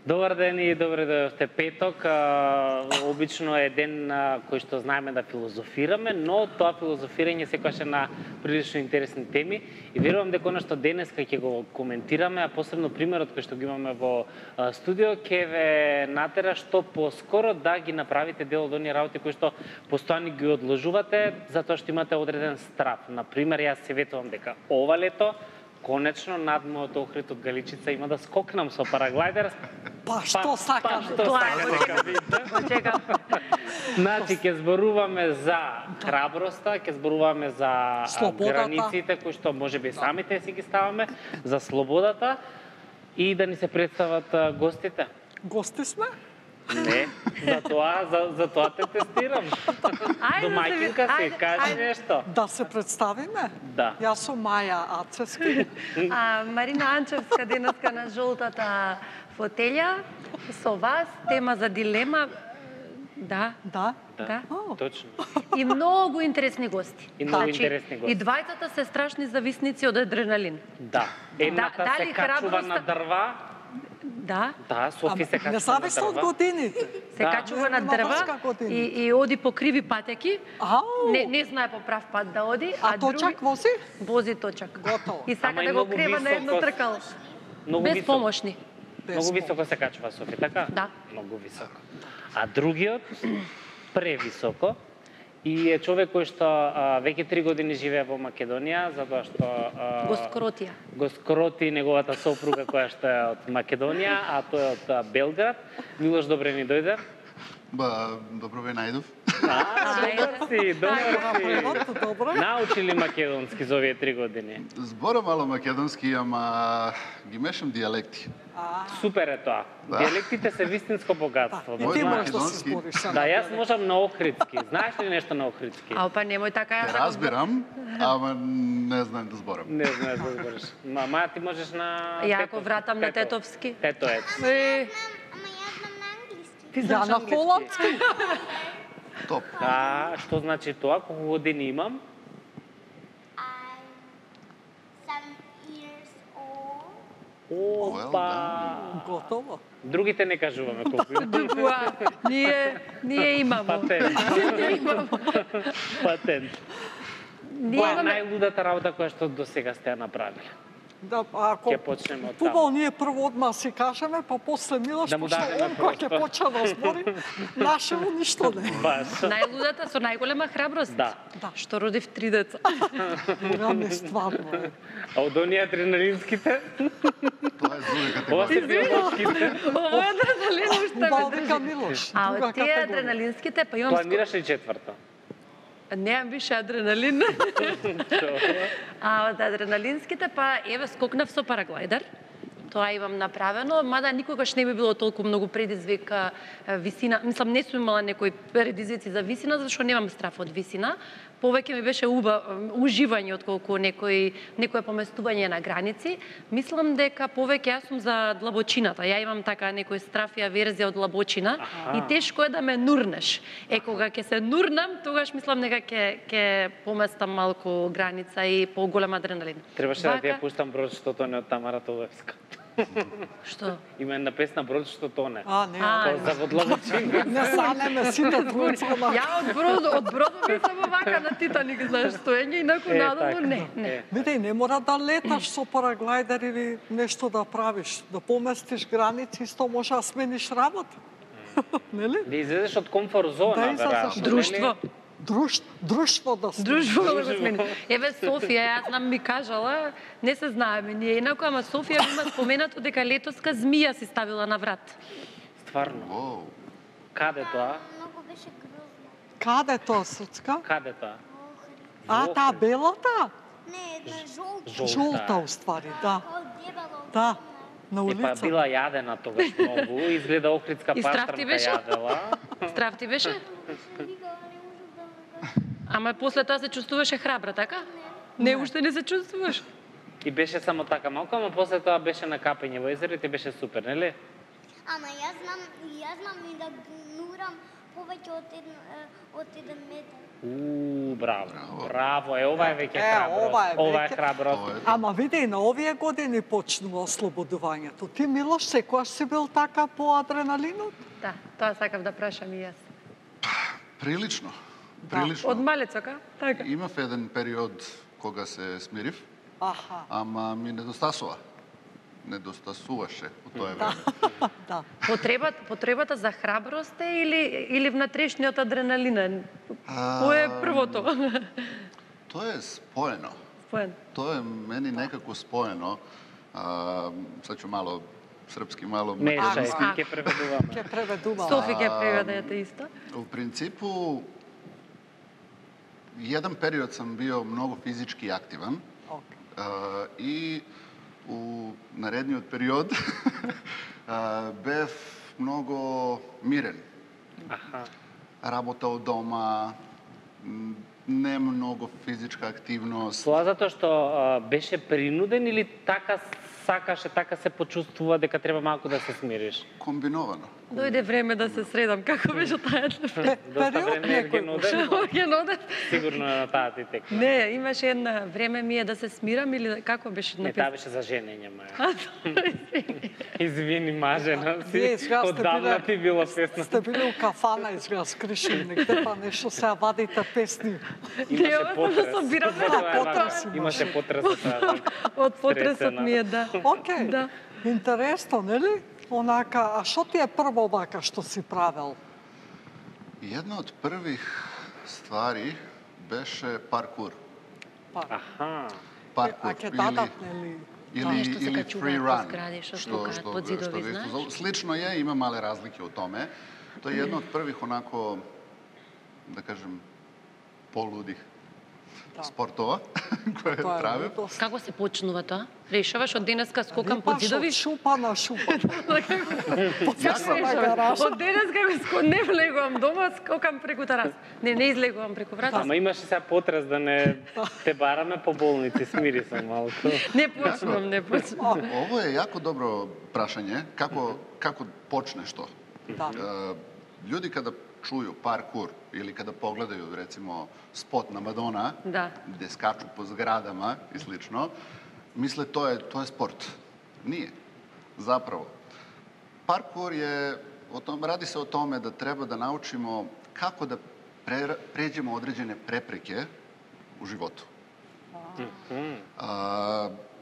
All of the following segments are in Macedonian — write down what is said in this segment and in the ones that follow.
Добар ден и добре дојдовте петок. Обично е ден кој што знаеме да филозофираме, но тоа филозофирање секогаш е на прилично интересни теми и верувам дека она што денеска ќе го коментираме, а посебно примерот кој што го имаме во студио, ќе ве натера што поскоро да ги направите дел од оние работи кои што постојано ги одложувате затоа што имате одреден страв. На пример, јас се ветувам дека ова лето конечно над мојот Охрид од Галичица има да скокнам со параглайдер. Па што сакаш? Чекам. Значи, ќе зборуваме за храброста, ќе зборуваме за границите кои што можеби самите си ги ставаме, за слободата и да ни се представат гостите. Гости сме? Не, за тоа те тестирам. Домаќинка си, кажи нешто. Да се представиме? Да. Јас сум Маја Ацевски. Марина Анчевска денеска на жолтата фотелја со вас, тема за дилема. Да. Точно. И многу интересни гости. И многу интересни гости. И двајцата се страшни зависници од адреналин. Да. Едната се качува на дрва. Да. Да, Софи се качува на дрва. Независно од годините. Се качува на дрва и оди по криви патеки. Не знае по прав пат да оди. А точак вози? Вози точак. Готово. И сака да го крева на едно тркало. Без помошни. Многу високо се качува Софи, така? Да. Многу високо. А другиот, превисоко, и е човек кој што веќе 3 години живее во Македонија, затоа што го скроти неговата сопруга која што е од Македонија, а тој е од Белград. Милош, добре ни дојде. Добро ве најдов. Добро. Научи ли македонски за овие 3 години? Зборам мало македонски, ама ги мешам дијалекти. Супер е тоа. Дијалектите се вистинско богатство. И ти можеш да се збориш. Да, јас можам на охридски. Знаеш ли нешто на охридски? Па немој така. Разбирам, ама не знаем да зборам. Не знаеш да збориш. Мама, ти можеш на Ја ако вратам на тетовски. Тето е. Ја на холандски. Топ. Што значи тоа? Колку години имам? Опа! Готово. Другите не кажуваме колку имам. Ние имамо. Патент. Која е најлудата работа која што до сега сте ја направиле? Да, ако ќе почнеме од таму. Ние прво одма си кажеме, па после Милош, пошто он кој ќе почне да збори, нашево ништо не. Најлудата со најголема храброст. Да. Што родив 3 деца. Не стварно. А од оние адреналинските? Тоа е друга категорија. Ова се биолошките. Ова е адреналин уште ме држи. Милош, а од тие адреналинските, па имам... Планираш ли четврта? Неам више адреналин. А од адреналинските, па еве скокнав со параглайдер. Тоа имам направено, мада никогаш не би било толку многу предизвик висина. Мислам, не сум имала некои предизвици за висина, зашто немам страф од висина. Повеќе ми беше уживање отколку некое поместување на граници. Мислам дека повеќе јас сум за длабочината. Ја имам така некој страф и аверзија од длабочина и тешко е да ме нурнеш. Кога ќе се нурнам, тогаш мислам дека ќе поместам малку граница и поголем адреналин. Требаше да ти ја пуштам брод што тоне од Тамара Тодоевска. Што? Има една песна брод што тоне. Не. За водлабочина. Не санеме сите двојцата. Ја од бродот ми само вака на Титаник, знаеш, стоење и након надолу не. Видеј, не мора да леташ со параглайдер или нешто да правиш, да поместиш граници, исто може да смениш работа. Нели? Да излезеш од комфорт зона, веројатно. Друштво. Друштво да сме. Друштво да го смени. Еве Софија, јас знам ми кажала, не се знаеме ние инаку, ама Софија има споменато дека летоска змија си ставила на врат. Стварно? Каде тоа? Многу беше грозно. Каде тоа, Срцка? Каде тоа? Таа белата? Не, една жолта. Жолта, уствари, да. Да, на улица. Па била јадена тогаш многу, изгледа охридска пастрмка јадела. Страв ти беше? Ама после тоа се чувствуваше храбра, така? Не, уште не се чувствуваш. И беше само така малку, ама после тоа беше на капење во езеро и ти беше супер, нели? Ама јас знам и да гнурам повеќе од 1 метар. Браво. Браво, ова е веќе ова е храброст. Ова е веќе- храброст. Ама види, на овие години почнува ослободувањето. Ти, Милош, секојаш си бил така по адреналинот? Да, тоа сакав да прашам и јас. Прилично. Да. Прилично. Од малецока, така. Имав еден период кога се смирив, Аха, ама ми недостасуваше во тоа време. да. Потребата за храброст е или внатрешниот адреналинен? Кој е првото? Тоа е споено. Споен. Тоа е мени некако споено. Сад ќе мало српски, мало Мешај, македонски. ќе преведуваме. Ќе преведувам. Софи ќе преведете исто. У принципу, еден период сам био многу физички активен Океј. и у наредниот период бев многу мирен. Аха. Работа од дома, не многу физичка активност. Тоа затоа што беше принуден или така сакаше, така се почувствува дека треба малку да се смириш? Комбиновано. Дојде време да се средам. Како беше таа? Доста Период време е некој геноден, Геноден? сигурно е на таа ти текна. Не, имаше една време ми е да се смирам или како беше Не, таа написано? беше за женење, маја. Извини, мажена Вие си. изгледа сте Одавна биле- ти било песна. Сте били у кафана, изгледа скришен негде, па нешто сега вадите песни. Имаше ова потрес. да собираме. Тоа е потрес вака. имаше. Имаше потрес за тоа. Од потресот Стресена. ми е, да. Океј, Да. интересно, нели? Онака, а што ти е прво вака што си правел? Една од првих ствари беше паркур. Аха. Паркур А ќе дадат, нели? Нешто се или качуваат free по run. згради, што скокаат под зидови, го знаеш? исто- Слично е, има мале разлики од томе. Тоа е една од првих онако, да кажем, полудих спортова која Тоа е правев. лудост. Како се почнува тоа? Решаваш од денеска скокам под Липаш зидови? од шупа на шупа. Како на гаража. Од денеска не влегувам дома, скокам преку терас. Не излегувам преку врата. Ама имаше сега потрес да не те бараме по болници, смири се малку. Не почнам. Ово е јако добро прашање, како почнеш тоа? Да. Луѓе када чују паркур или када погледају рецимо спот на Мадона, Да. где скачу по зградама и слично, мисле тоа е спорт. Ние. Заправо. Паркур е ради се о томе да треба да научимо како да преđemo одреđene препреке у животу.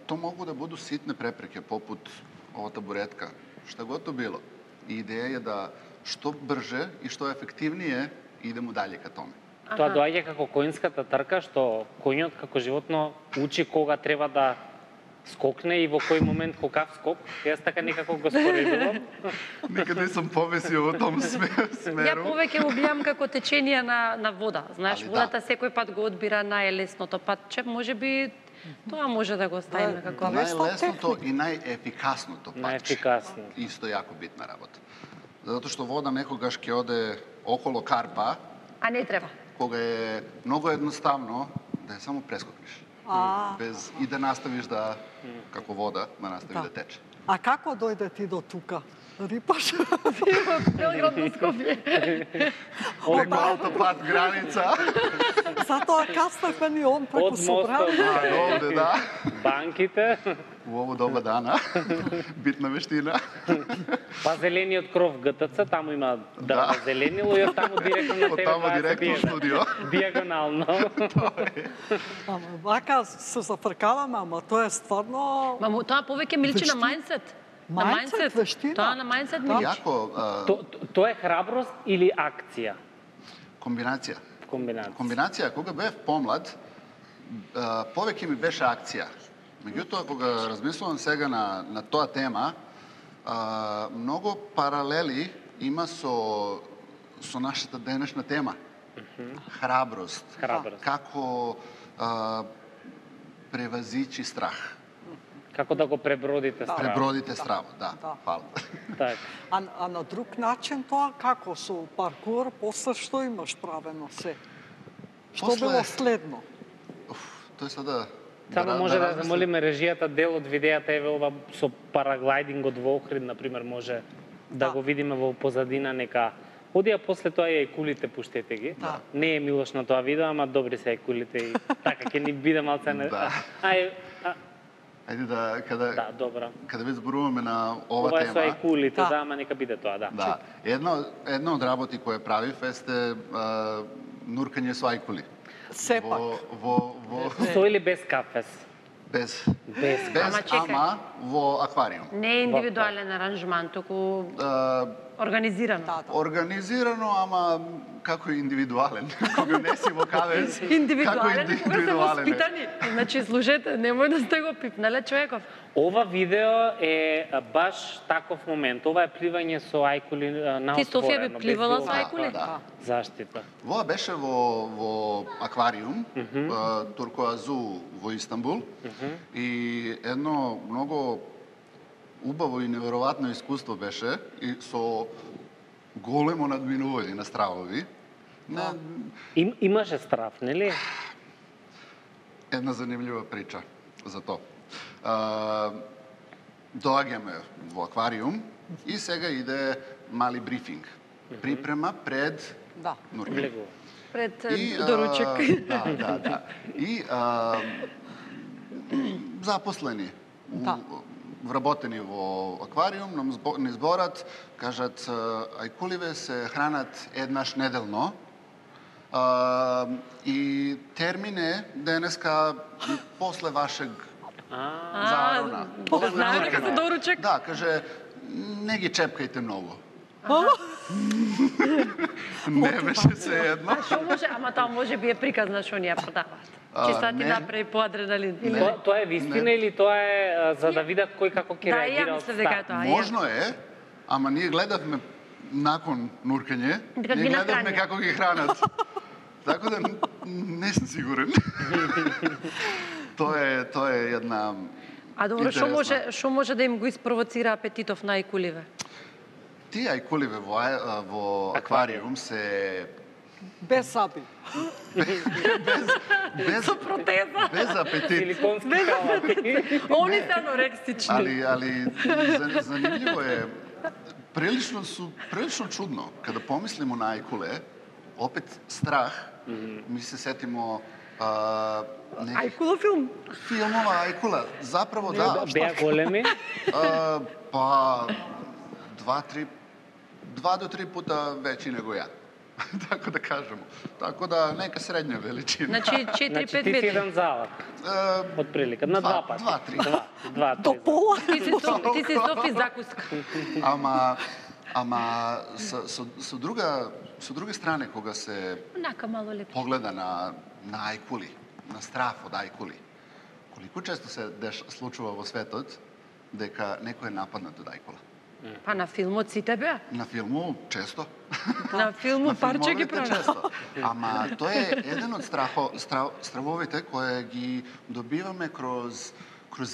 То могу да буду ситне препреке, попут ова табуретка, што го то било. И идеја е да што брже и што ефективнije идемо дале ка томе. Тоа доаѓа како коњската трка, што коњот како животно учи кога треба да скокне и во кој момент какав скок. Јас така некако го споредувам. Никаде сум повесио во том Ја смеру. повеќе го гледам како течение на вода. Знаеш, Али водата да. секој пат го одбира најлесното патче, можеби тоа може да го ставиме како Најлесното и најефикасното патче. Најефикасно. Исто јако битна работа. Затоа што вода некогаш ќе оде около карпа, А не треба. кога е многу едноставно да ја само прескокнеш. Без и да наставиш да како вода да настави да тече. А како дојде ти до тука? Рипаш? Белград до Скопје. Преку автопат граница. Затоа каснахме ни он преку Од мостот, собрание. Овде, да. банките, У ово доба дана. Битна вештина. па зелениот кров ГТЦ, таму има дрво Да. зеленило и од таму директно на Од тебе таму директно студио. Диагонално. Ама вака се зафркаваме, ама тоа е стварно... Мамо, тоа повеќе ми личи на Вештина. мајндсет. На Мајндсет, мајндсет. вештина. Тоа на мајндсет ми личи. Јако Тоа е храброст или акција? комбинација. Комбинација. Комбинација, кога бев помлад, повеќе ми беше акција. Меѓутоа, кога размислувам сега на тоа тема, многу паралели има со нашата денешна тема. Храброст. Храброст. Како превазичи страх. Како да го пребродите страв. Пребродите страв, да. Да. Фала. Така. А на друг начин тоа како со паркур, после што имаш правено се? Што После- било следно? Тој сега Само може да размислам. замолиме режијата дел од видејата еве ова со параглайдингот во Охрид, например, може да го видиме во позадина, нека Одија после тоа и ајкулите, пуштете ги. Да. Не е Милош на тоа видео, ама добри се ајкулите и така ќе ни биде малце не. Да. Ајде Да, добро. каде веќе зборуваме на ова Ова е со тема. ајкулите, Да. да, ама нека биде тоа, да. Да, една од работи која правив есте нуркање со ајкули. Сепак. Со или без кафес? Без, Без. Ама чекај. ама во аквариум. Не е индивидуален аранжман, туку организирано. Да, да. Организирано, ама како индивидуален. Кога не си во кавез, Индивидуален, како кога се воспитани. Значи, слушајте, немој да сте го пипнале човеков. Ова видео е баш таков момент. Ова е пливање со ајкули на Ти, Софија, би отворено, без пливала било со ајкули? Да. заштита. Во беше во аквариум, Туркоазу во Истанбул, и едно многу убаво и неверојатно искуство беше и со големо надминување на стравови. Имаше страв, нели? Една занимљива прича за тоа. Доаѓаме во аквариум и сега иде мали брифинг. Припрема пред Да. нуркање. Влегува. Пред И, доручек. Да. И запослени, Да. вработени во аквариум, ни зборат, кажат, ајкуливе се хранат еднаш неделно, и термин е денеска после вашег зарона. Знае дека се доручек. Да, каже, не ги чепкајте многу. Не беше се едно. Што може, ама тоа може би е приказ на што ни ја продаваат. Чисто ти не. направи по адреналин. Или... Тоа е вистина или тоа е за да видат кој како ќе Да, ја реагира од мислев дека е старт? тоа. Можно е, ама ние гледавме након нуркање, Дека ние ги гледавме нахранија. како ги хранат. Така да не сум сигурен. Тоа е една А добро, што интересна. што може да им го испровоцира апетитов на ајкуливе? Тие ајкуливе во аквариум се Без заби. без Со протеза. без апетит. Силиконски калати. Они се анорексични. Ali zanimljivo je, prilično čudno, kada pomislimo na ajkule, opet strah, mi se setimo nekih Ајкулов филм. filmova ajkula. Zapravo da, Беа големи. pa 2 do 3 puta veći nego ja. Tako da kažemo. Tako da neka srednja veličina. Значи 4-5 Значи ти си метри. еден залак, од прилика, на два пати. 2-3. До пола. Ти си Софи закуска. Ама со друга стране, кога се Онака мало лепче. погледа на ајкули, на страф од ајкули, колико често се случува во светот дека некој е нападнат од ајкула? Па на филмот сите беа. На филму често. На филмот парче ги филмовите прави. често. Ама тоа е еден од стравовите кои ги добиваме кроз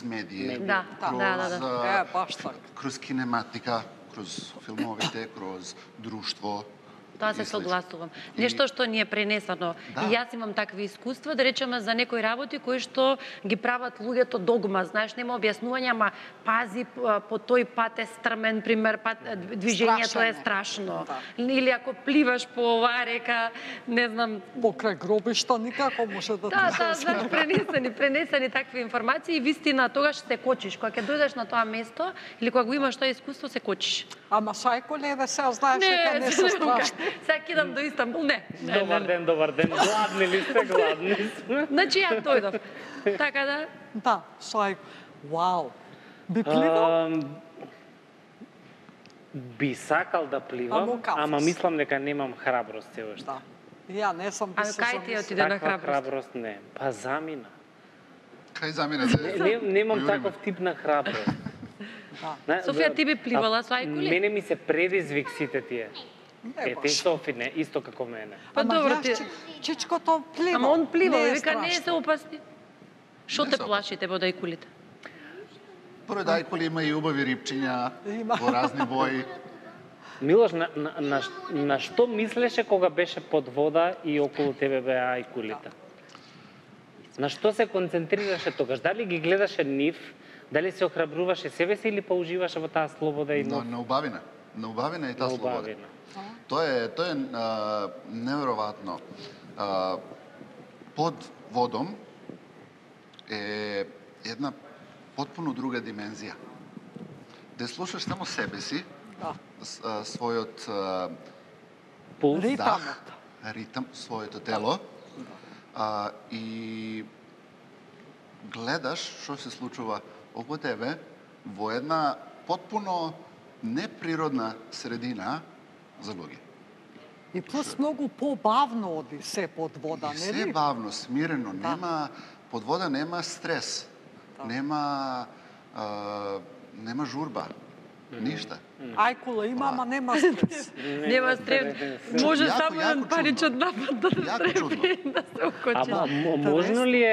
медии. Да, да. Баш така. Кроз кинематика, кроз филмовите, кроз друштво. Тоа се и слично. согласувам. Нешто што ни е пренесено. Да. И јас имам такви искуства, да речеме за некои работи кои што ги прават луѓето догма. Знаеш, нема објаснување, ама пази по тој пат е стрмен, пример, движењето е страшно. Да. Или ако пливаш по оваа река, не знам, Покрај гробишта никако може да да, ти се знаеш, пренесени такви информации и вистина тогаш се кочиш. Кога ќе дојдеш на тоа место или кога го имаш тоа искуство, се кочиш. Ама сајколеве се знаеш дека не се страшни. Сега кидам до Истанбул, не. Добар ден. Гладни ли сте? Гладни сме. Значи ја дојдов. Така да, Да, сајко. Вау. Би пливал? Би сакал да пливам, Ама кафес. ама мислам дека немам храброст се уште. Да. Ја не сум би а се кај ти замислила. отиде на Таква храброст? храброст не. Па замина. Кај заминете? Немам Јуриме. таков тип на храброст. Да. Софија, ти би пливала со ајкули? Мене ми се предизвик сите тие. Не Ете, баш. Софи не, исто како мене. Па Ама добро јас ти. Чичкото плива. Ама он плива, Не е вика не се страшно. опасни. Што Не те се плаши тебе од ајкулите? Поред ајкули има и убави рипчиња Има. во разни бои. Милош, на што мислеше кога беше под вода и околу тебе беа ајкулите? На што се концентрираше тогаш? Дали ги гледаше нив? Дали се охрабруваше себе си или па уживаше во таа слобода и Но нов? на убавина. на убавина и таа слобода. Убавина. Тоа е неверојатно. Под водом е една потпуно друга димензија. Да слушаш само себе си, Да. својот Пулс. Ритамот. ритам, своето тело, и гледаш што се случува околу тебе во една потпуно неприродна средина за луѓе. И плюс многу побавно оди се под вода, И се нели? бавно, смирено, нема под вода нема стрес, нема журба, ништа. Ајкула има, ама нема стрес. Нема стрес. Може Јако, само јако еден паричен чудно. напад да Јако чудно. да се окочи. Ама можно ли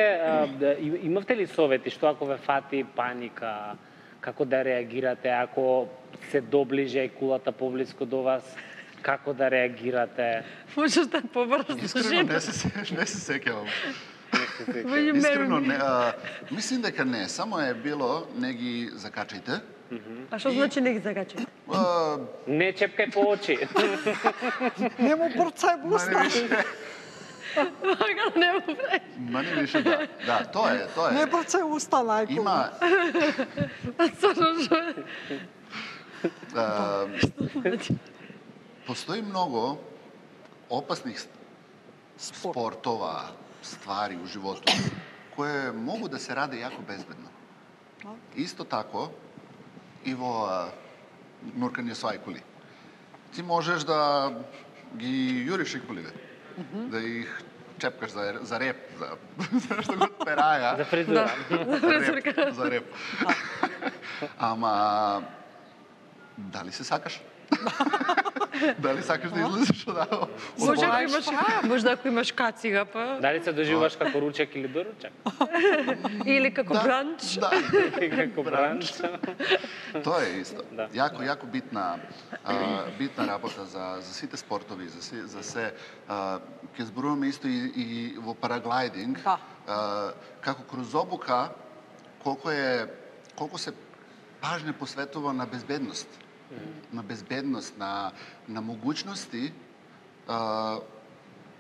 имавте ли совети што ако ве фати паника, како да реагирате, ако се доближи ајкулата поблиску до вас, како да реагирате? Можеш да побрзо Искрено не се сеќавам. Во Искрено не, мислим дека не, само е било не ги закачајте. А што значи не ги закачи? Не чепкај по очи. Не му брцај в уста. Мага не му прави. Мани више да. Да, тоа е. Не брцај уста на ајкула. Има постои многу опасни спортова ствари у животот кои могу да се раде јако безбедно. Исто тако и во нуркање со ајкули. Ти можеш да ги јуриш ајкулите, да их чепкаш за реп, за што го пераја. За фризура. За реп. Ама дали се сакаш? Дали сакаш да излезеш од Може ако имаш кацига, па... Дали се доживуваш како ручек или доручек? Или како бранч. Да. Како бранч. Тоа е исто. Да. Јако битна работа за сите спортови, за се. Ќе зборуваме исто и во параглайдинг. Како кроз обука колку се пажне посветува на безбедност. На безбедност, на могуćности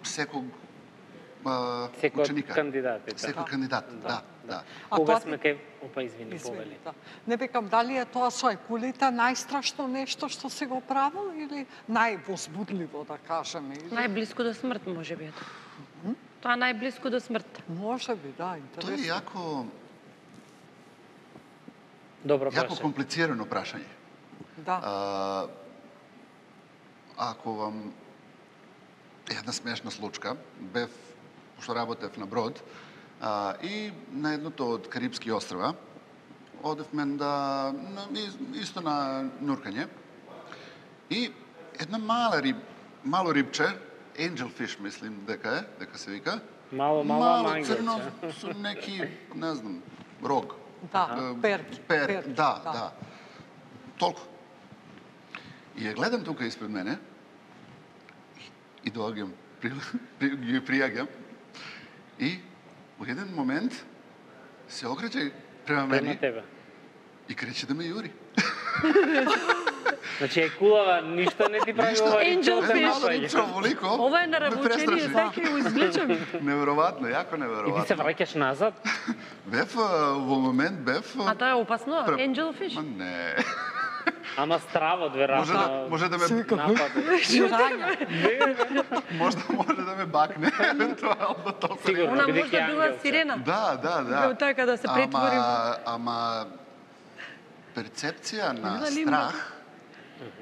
секој ученика. Секој кандидат, да. Кога сме кај... Опа, извини, повели. Не викам, дали е тоа со ајкулите најстрашно нешто што се го правил или највозбудливо, да кажеме? Најблиску до смрт, може би. Тоа најблиску до смрт. Може би, да, Тоа е интересно. јако комплицирано прашање. Да. Ако вам една смешна случка, пошто работев на брод, и на едното од Карипски острва, одевме исто на нуркање, и една мало рибче, angelfish мислим дека се вика, Мало црно со неки, не знам, рог. Да, перки. Да. Толку. И ја гледам тука испред мене и доаѓам, ги пријаѓам и во еден момент се окреće према мене и крече да ме јури. Значи ајкулава ништо не ти прави ова Angelfish. Ова е наравучение, така ја извлечам. Неверојатно, јако И ти неверојатно. се враќаш назад? Во момент бев... А тоа е опасно? Angelfish? Не. Ама стравот, веројатно. Може да ме може да ме бакне евентуално толку. Сигурно, Она бидејќи може да била ангел се. сирена. Да. Така да се претвори. Ама перцепција на страх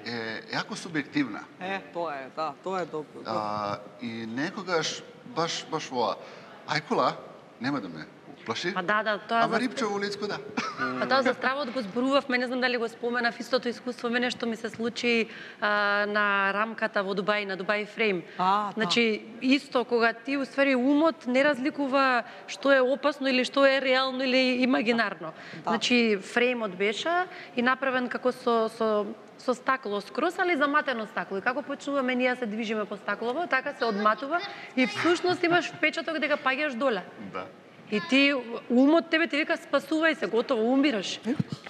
е јако субјективна. Тоа е добро. И некогаш баш воа. Ајкула нема да ме плаши. Па да, тоа Ама рипче во улицко, да. Па тоа за стравот го зборувавме, не знам дали го споменав, истото искуство мене што ми се случи на рамката во Дубај, на Дубај Фрейм. Значи, исто кога ти уствари умот не разликува што е опасно или што е реално или имагинарно. Значи, фреймот беше и направен како со стакло скрос, али заматено стакло. И како почнуваме ние се движиме по стаклово, така се одматува и всушност имаш впечаток дека паѓаш доле. Да. И ти, умот тебе ти вика спасувај се, готово, умираш.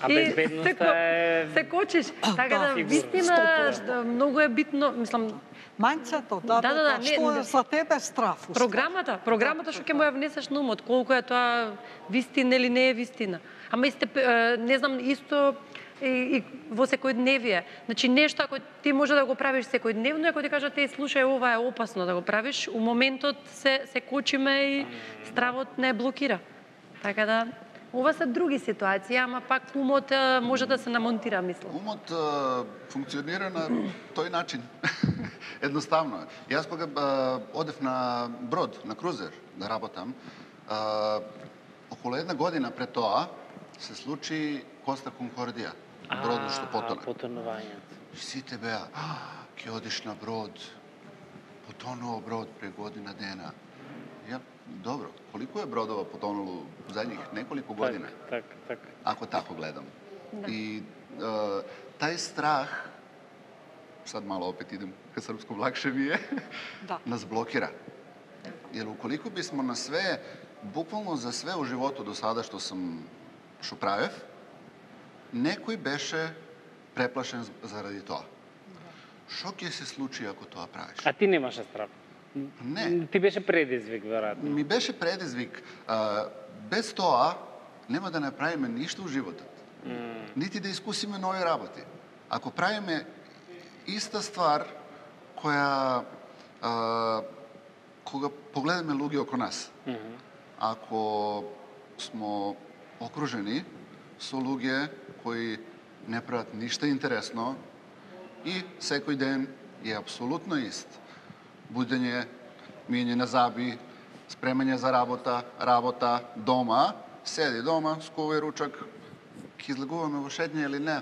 А И безбедноста е... се кочиш. Така да, сигурно. вистина, многу е битно, мислам, Мајнцето, не, што е за тебе страф? програмата што ќе му ја внесеш на умот, колку е тоа вистина или не е вистина. Ама исте, не знам, исто и во секојдневие. Значи, нешто, ако ти може да го правиш секојдневно, ако ти кажат, слушај, ова е опасно да го правиш, у моментот се кочиме и стравот не блокира. Така да, ова се други ситуации, ама пак умот може да се намонтира, мислам. Умот функционира на тој начин. Едноставно е. Јас кога одев на брод, на крузер, да работам, околу една година пред тоа се случи Коста Конкордија, бродот што потоне. Потонувањето. Сите беа, ќе одиш на брод, потонува брод пред година дена. Ја, добро, колико е бродова потонуло задњих неколико година? Так. Ако тако гледам. И тај страх, сад мало опет идем ка српско лакше ми е, нас блокира. Jer ukoliko bismo na sve, bukvalno za sve u životu do sada što правев, некој беше преплашен заради тоа. Што ќе се случи ако тоа правиш? А ти немаше страв? Не. Ти беше предизвик, веројатно. Ми беше предизвик. Без тоа нема да направиме ништо во животот. Нити да искусиме нови работи. Ако правиме иста ствар која кога погледаме луѓе око нас. Ако смо окружени со луѓе кои не прават ништо интересно и секој ден е апсолутно ист. Будење, мијање на заби, спремање за работа, дома, седи дома, скувај ручак, ќе излегуваме во шетње или не.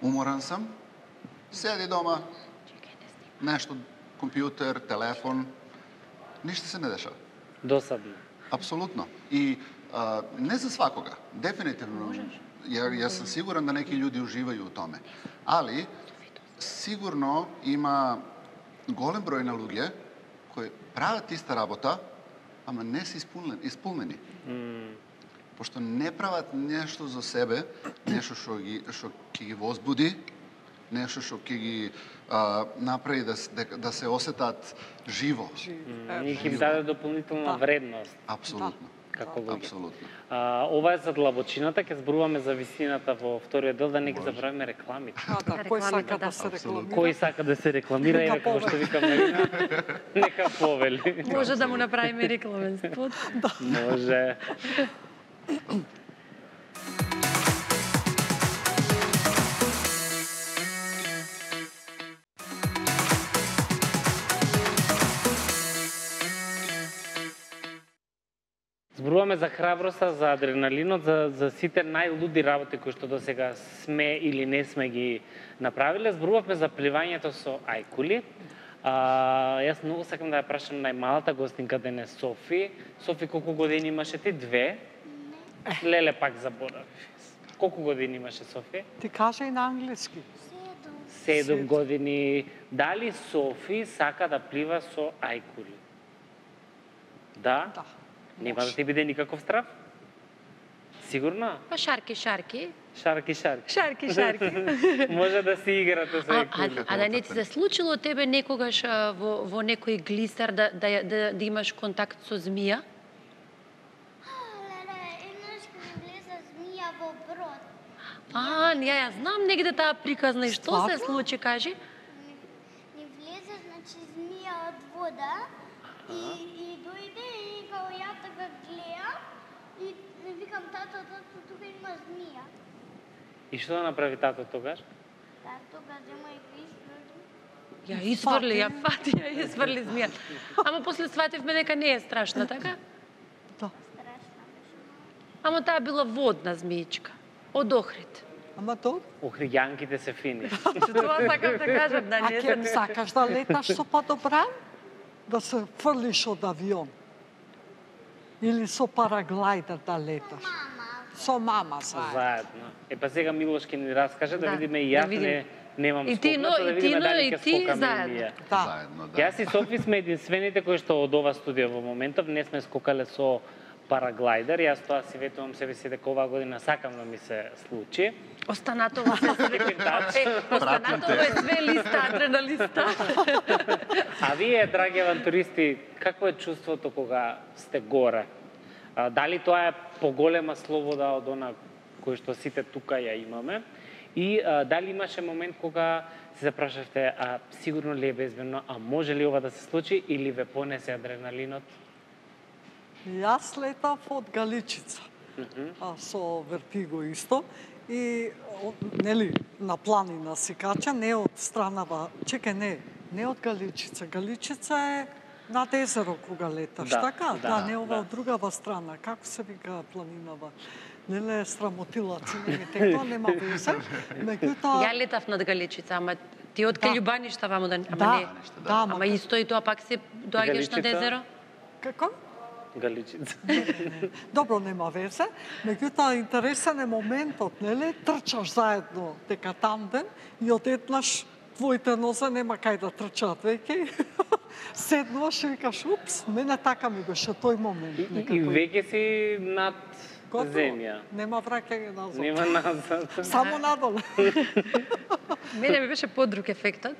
Уморан сам, седи дома, нешто, компјутер, телефон, ништо се не дешава. Досадно. Апсолутно. И не за свакога, дефинитивно. Јас сум сигурен да неки луѓе уживају у томе. Али, сигурно има голем број на луѓе кои прават иста работа, ама не се исполнени. Пошто не прават нешто за себе, нешто што ќе ги возбуди, нешто што ќе ги направи да се осетат живо. И ќе им даде дополнителна вредност. Апсолутно. Како луѓе. Апсолутно. Ова е за длабочината, ќе зборуваме за висината во вториот дел, да не ги забравиме рекламите. Кој сака да се рекламира? Кој сака да се рекламира, и како што вика Марина, нека повели. Може да му направиме рекламен спот. Може. Зборуваме за храброста, за адреналинот, за сите најлуди работи кои што досега сме или не сме ги направиле. Зборувавме за пливањето со ајкули. Јас многу сакам да ја прашам најмалата гостинка денес, Софи. Софи, колку години имаше ти? 2? Леле пак заборави. Колку години имаше Софи? Ти кажа и на англиски. 7 години. Дали Софи сака да плива со ајкули? Да? Да. Нема да ти биде никаков страв? Сигурно? Па шарки. Шарки. Шарки. Може да си играте со ајкули. А да не ти се случило тебе некогаш во некој глисер да имаш контакт со змија? Леле, еднаш ми влезе змија во брод. Ја знам негде таа приказна. И што се случи, кажи? Ни влезе, значи, змија од вода и дојде и као ја така гледам и викам, тато, тука има змија. И што да направи тато тогаш? Тога зема и го Ја изфрли змија. Ама после свативме дека не е страшна, така? Да. страшна беше. Ама таа била водна змиичка. Од Охрид. Ама тоа? Охриѓанките се фини. Тоа сакам да кажам, да А не ке сакаш да леташ со падобран? Да се фрлиш од авион? Или со параглајдер да леташ? Со мама заедно. Заедно. Па сега Милош ќе ни раскаже да видиме и јас немам И ти, скокната, да видиме дали ќе скокаме и заедно. ние. Заедно, да. Јас и Софи сме единствените кои што од ова студио во моментов не сме скокале со параглайдер. Јас тоа си ветувам себе си дека оваа година сакам да ми се случи. Останатово се останатово е све листа, адреналиста. А вие, драги авантуристи, какво е чувството кога сте горе? Дали тоа е поголема слобода од она кој што сите тука ја имаме? И дали имаше момент кога се запрашавте, сигурно ли е безбедно, а може ли ова да се случи или ве понесе адреналинот? Јас летав од Галичица, со Вертиго исто, и нели на планина си кача, не од странава, не од Галичица. Галичица е над езеро кога леташ, така? Да, не ова од другава страна. Како се вика планинава? Неле е срамотилаци, тоа нема везе. Ја летав над Галичица, ама ти од Каљубаништа ваму да... Ама исто и тоа пак се доаѓаш на езеро? Како? Галичица. Добро, нема везе. Меѓутоа, интересен е моментот, нели? Трчаш заедно дека тандем и одеднаш твоите нозе нема кај да трчаат веќе. Седнуваш и викаш, упс, мене така ми беше тој момент. И веќе си над земја. Нема враќање назад. Нема назад. Само надолу. Мене ми беше подруг ефектот.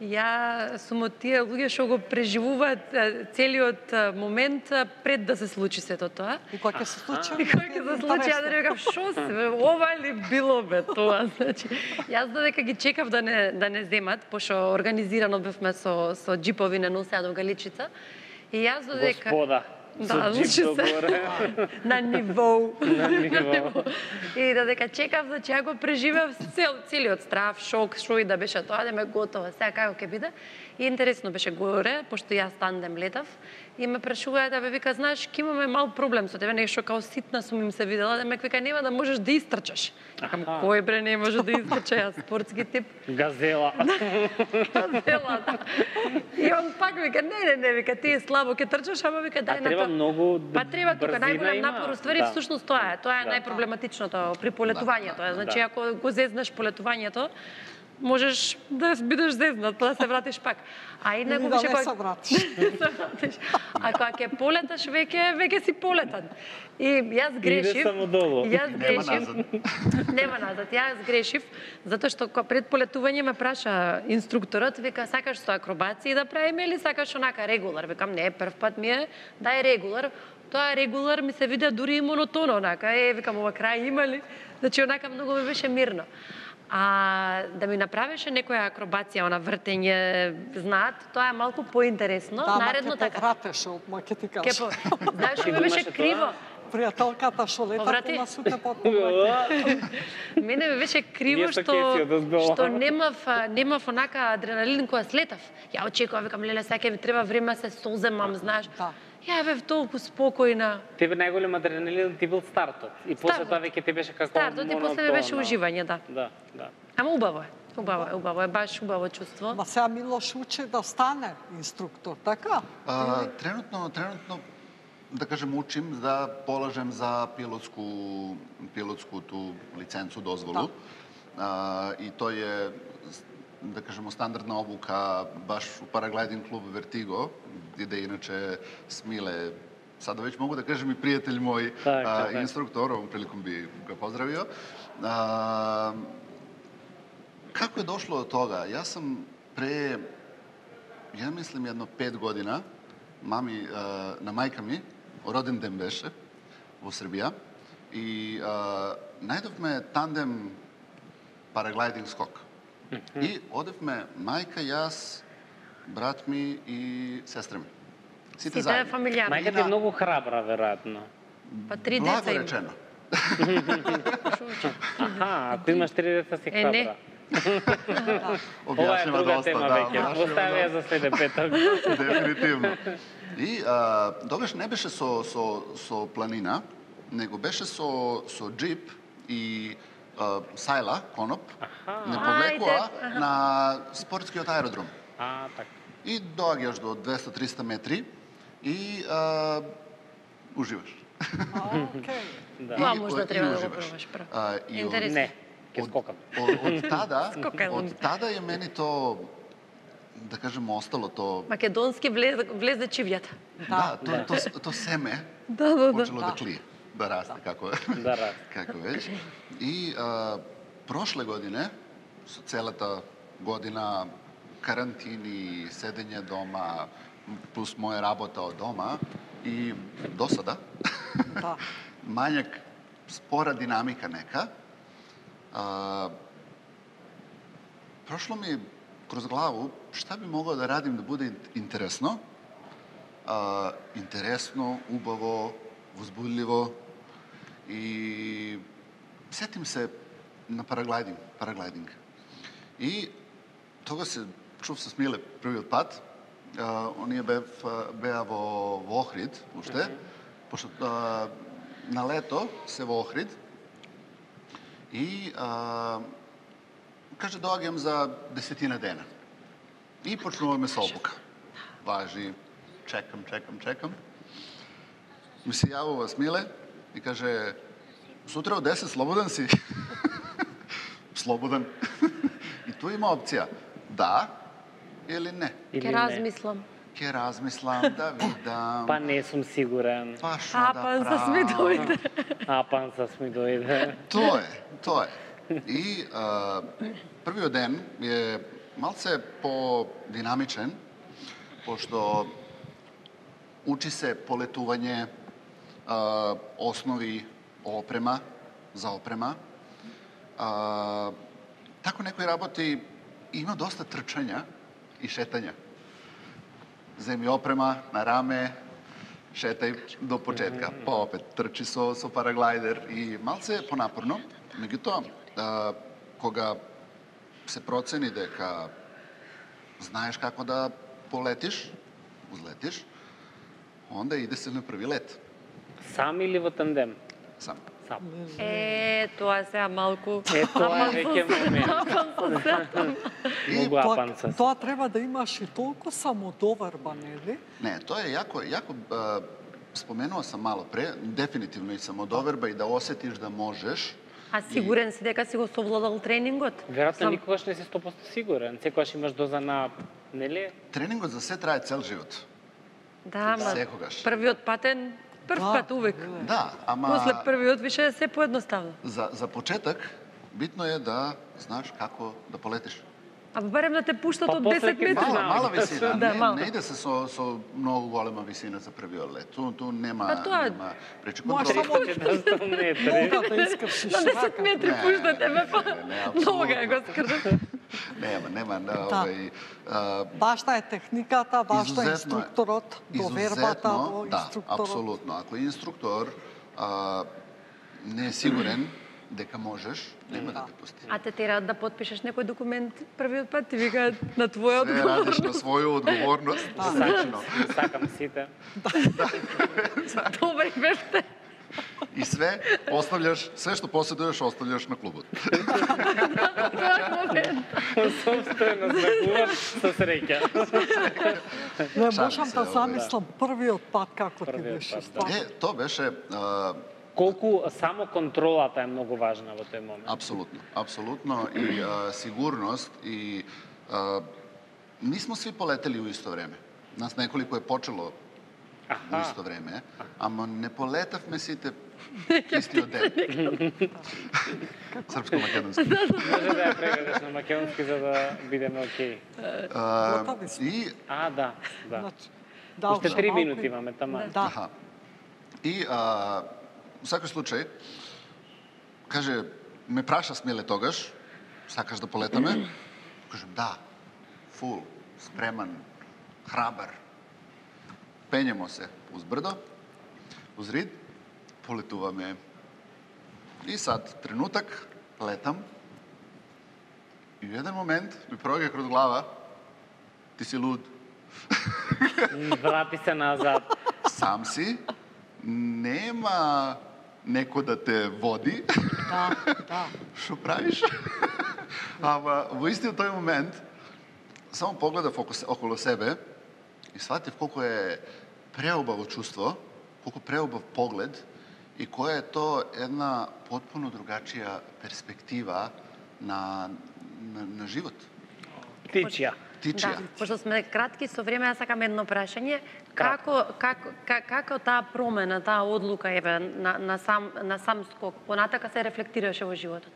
Ја сум од тие луѓе што го преживуваат целиот момент пред да се случи сето тоа. И кога ќе се случи? И кога ќе се случи, ја да рекам, шо се, ова ли било бе тоа? Значи, јас додека ги чекав да не земат, пошто организирано бевме со джипови не носеа до Галичица. И јас додека... Господа. Да, значи се на ниво. И додека чекав, значи ја го преживев целиот страв, шок, шо и да беше тоа, да ме готова, сега како ќе биде. И интересно беше горе, пошто јас тандем летав, и ме прашуваат да бе вика, знаеш, ќе имаме мал проблем со тебе, нешто као ситна сум им се видела, да ме вика нема да можеш да истрчаш. Акам кој бре не може да истрча, јас спортски тип. Газела. Газела, да. И он пак вика, не, вика, ти е слабо ќе трчаш, ама вика дај на треба многу па треба тука најголем напор, уствари да. всушност тоа е најпроблематичното при полетувањето. Значи ако го зезнеш полетувањето, можеш да бидеш зезнат, па да се вратиш пак. А инаку више кога се вратиш. А кога ќе полеташ веќе си полетан. И јас грешив. Иде само долу. Нема назад. Јас грешив затоа што пред полетување ме праша инструкторот, вика сакаш со акробација да правиме или сакаш онака регулар? Викам не, прв пат ми е дај регулар. Тоа регулар ми се виде дури и монотоно онака. Викам ова крај има ли? Значи онака многу ми беше мирно. А да ми направеше некоја акробација, она вртење, знаат, тоа е малку поинтересно. Да, наредно така. Вратеше од ке ти кажа. Знаеш што ми беше криво? Пријателката што лета на сутне потмога. Мене ми беше криво што немав онака адреналин кога слетав. Ја очекував, викам, леле, сега ми треба време се соземам, знаеш. Ја бев толку спокојна. Тебе најголем адреналин ти бил стартот. И после тоа веќе ти беше како стартот и после беше уживање, да. Да. Ама убаво е. Убаво е, баш убаво чувство. Ма сега Милош учи да стане инструктор, така? Тренутно, да кажем, учим да положем за пилотското лиценцу, дозволу. И тој е, да кажемо, стандардна обука баш у параглайдинг клуб Вертиго, где иначе Смиле, сада веќе могу да кажем и пријател мој инструктор, овом приликом би го поздравио. Како е дошло до тога? Јас сум ја мислим едно 5 година, на мајка ми, роден ден беше во Србија, и најдовме тандем параглайдинг скок. И одевме мајка, јас, брат ми и сестра ми. Сите заедно. Фамилијарно. Мајка ти е многу храбра, веројатно. Па 3 деца Благо речено. Ако имаш 3 деца си храбра. Ова е друга тема веќе. Остави ја за следен петок. Дефинитивно. И тогаш не беше со планина, него беше со джип и сајла, коноп, не повлекоа на спортскиот аеродром. Така. И доаѓаш до 200-300 метри и уживаш. Тоа можда треба да го пробаш прв. Интересно. Не, ке скокам. Од тада е мени то да кажем, остало то... Македонски влезе чивјата. Да, то семе почело да клие, да расте, како веќе. И прошле године, со целата година карантини, седење дома, плюс моја работа од дома и досада, мањак спора динамика нека, прошло ми кроз главу шта би могло да радим да буде интересно, убаво, возбудливо и сетим се на параглайдинг. И тога се чув со Смиле првиот пат, оние беа во Охрид уште, пошто на лето се во Охрид и каже доаѓам за 10 дена. И почнуваме со обука. Важи, чекам. Ми се јавува Смиле и каже, сутра од 10 слободен си? Слободен. И тоа има опција. Да или не? Ке размислам. Ке размислам, да видам. Па не сум сигурен. Па шо да правам? Апан сасми дојде. Тоа е. И првиот ден е малце по-динамичен, пошто учи се полетување, основи за опрема. Тако некои работи има доста трчања и шетања. Земи опрема на раме, шетај до почетка, па опет трчи со параглайдер и малце понапорно. Меѓутоа, кога се процени дека знаеш како да полетиш, узлетиш, онда иде се на први лет. Сам или во тандем? Сам. Тоа сега малку. Тоа е веќе момент. Многу апан сас. Тоа треба да имаш и толку самодоверба, нели? Не, тоа е јако споменува сам мало пре, дефинитивно и самодоверба и да осетиш да можеш. А сигурен си дека си го совладал тренингот? Веројатно никогаш не си 100% сигурен. Секогаш имаш доза на, нели? Тренингот за се трае цел живот. Да, ама секогаш. Првиот патен, пат увек. Да, ама После првиот више се поедноставно. За почеток битно е да знаеш како да полетиш. А барем да те пуштат од 10 метри. Мала висина, Да, не иде се со многу голема висина за првиот лет. Ту нема пречи Може контрол. само нога да искршиш На 10 метри пуштат тебе, па нога го скрдат. Нема, Важна е техниката, важна е инструкторот, довербата во инструкторот. Да, апсолутно. Ако инструктор не е сигурен дека можеш, нема да те пусти. А те тераат да потпишеш некој документ првиот пат, ти викаат на твоја Све радиш на своја одговорност. Сакам сите. Добри бевте. И све што поседуваш, оставljаш на клубот. Собствено знакувам со среќа. Не можам да замислам првиот пат како ти беше стварно. Тоа беше Колку само контролата е многу важна во тој момент. Апсолутно и сигурност и нисмо сви полетели у исто време. Нас неколико е почело у исто време, ама не полетавме сите истиот ден. Српско-македонски. Може да ја преведеш на македонски за да бидеме окей. И да. Да, уште 3 минути имаме тама. Да. И во секој случај, каже, ме праша Смиле тогаш, сакаш да полетаме? Кажем, да, фул, спреман, храбар. Пењемо се уз брдо, уз рид, полетуваме. И сад, тренутак, летам. И во еден момент ми проаѓа кроз глава, ти си луд. Врати се назад. Сам си, нема некој да те води. Да. Што правиш? Ама во истиот тој момент само погледав околу себе и сватив колку е преубаво чувство, колку преубав поглед и која е тоа една потпуно другачија перспектива на живот. Птичја. птичија. Пошто сме кратки со време, јас сакам едно прашање. Кратко. Како таа промена, таа одлука еве на сам скок понатака се рефлектираше во животот?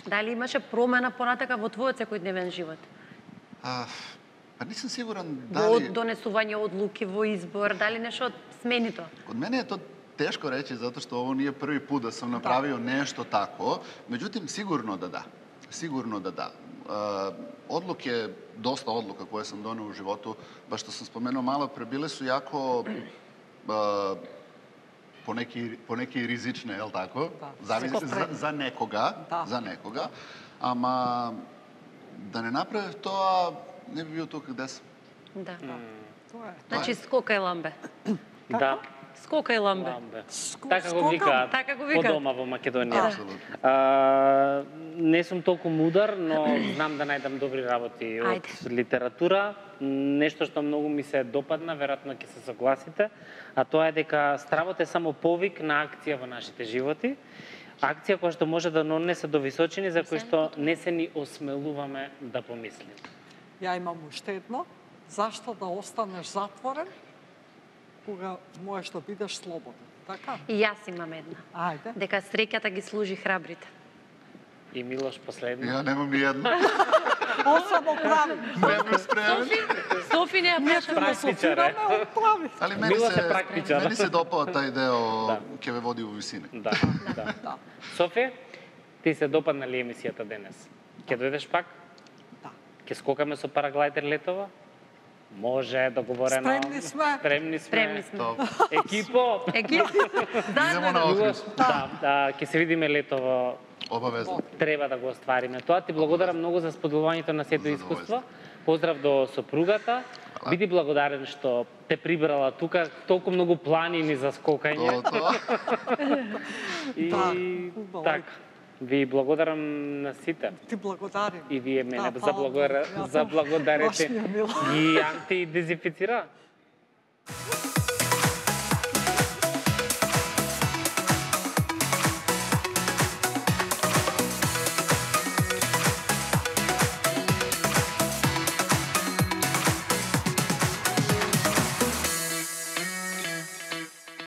Дали имаше промена понатака во твојот секојдневен живот? Па не сум сигурен Во дали... донесување одлуки, во избор, дали нешто смени тоа? Од мене е тоа тешко речи, затоа што ово не е први пат да сум направил нешто тако, меѓутоа сигурно да да. Сигурно да да. Одлуки, доста одлука која сум донел во животу, баш што сум споменал мало пре, биле су јако понеки ризични, ел тако? Зависи за некога, за некога. Ама да не направив тоа, не би бил тука каде сум. Да. Тоа е. Значи скока и ламбе. Да. Скока и ламбе. Така го викаат Така го по викаат. дома во Македонија. Не сум толку мудар, но знам да најдам добри работи од литература. Нешто што многу ми се допадна, веројатно ќе се согласите, а тоа е дека стравот е само повик на акција во нашите животи. Акција која што може да нонесе до височини за кои што не се ни осмелуваме да помислиме. Ја имам уште едно. Зашто да останеш затворен кога можеш да бидеш слободен? Така? И јас имам една. Ајде. Дека среќата ги служи храбрите. И Милош последно. Ја немам ни едно. Осамо прави. Немам спремен. Софи не ја Ние прашам. философираме, он прави. Али Милош е практичар. мене се допава тај део ќе ве води во висини. Да, да. Софија, ти се допадна ли емисијата денес? Ќе дојдеш пак? Да. Ќе скокаме со параглайдер летова? Може, договорено. Спремни сме. Спремни сме. Екипо. Екип. Идемо на Милош, Охрид. да, ќе се видиме летово. Обавезно. Треба да го оствариме тоа. Ти благодарам многу за споделувањето на сето искуство. Поздрав до сопругата. Биди благодарен што те прибрала тука, толку многу планини за скокање. Тоа. И убаво. така. Ви благодарам на сите. Ти благодарим. И вие мене Да, заблагодарете Баш ми е мило. ги антидезинфицира.